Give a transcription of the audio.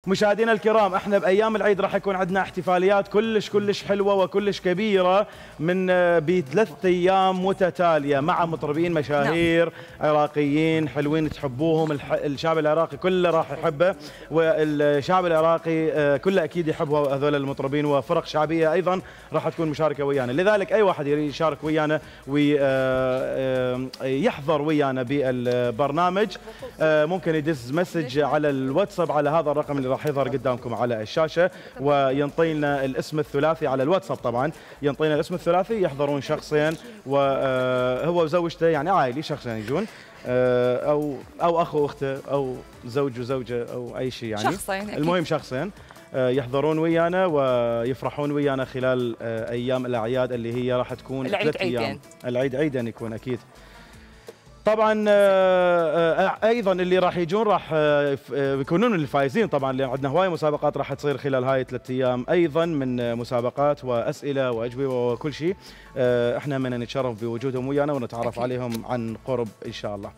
مشاهدينا الكرام، احنا بايام العيد راح يكون عندنا احتفاليات كلش حلوه وكلش كبيره من بثلاث ايام متتاليه مع مطربين مشاهير عراقيين حلوين تحبوهم. الشعب العراقي كله راح يحبه، والشعب العراقي كله اكيد يحب هذول المطربين، وفرق شعبيه ايضا راح تكون مشاركه ويانا. لذلك اي واحد يريد يشارك ويانا ويحضر ويانا بالبرنامج ممكن يدز مسج على الواتساب على هذا الرقم اللي راح يظهر قدامكم على الشاشه، وينطي لنا الاسم الثلاثي على الواتساب. طبعا ينطينا الاسم الثلاثي، يحضرون شخصين وهو وزوجته، يعني عائلي شخصين يجون، او اخ واخته او زوج وزوجه او اي شيء، يعني شخصين المهم شخصين يحضرون ويانا ويفرحون ويانا خلال ايام الاعياد اللي هي راح تكون العيد عيدين. العيد عيدين يكون اكيد. طبعا ايضا اللي راح يجون راح يكونون الفائزين طبعا، لان عندنا هواي مسابقات راح تصير خلال هاي 3 ايام، ايضا من مسابقات واسئله واجوبه وكل شيء. احنا من نتشرف بوجودهم ويانا ونتعرف عليهم عن قرب ان شاء الله.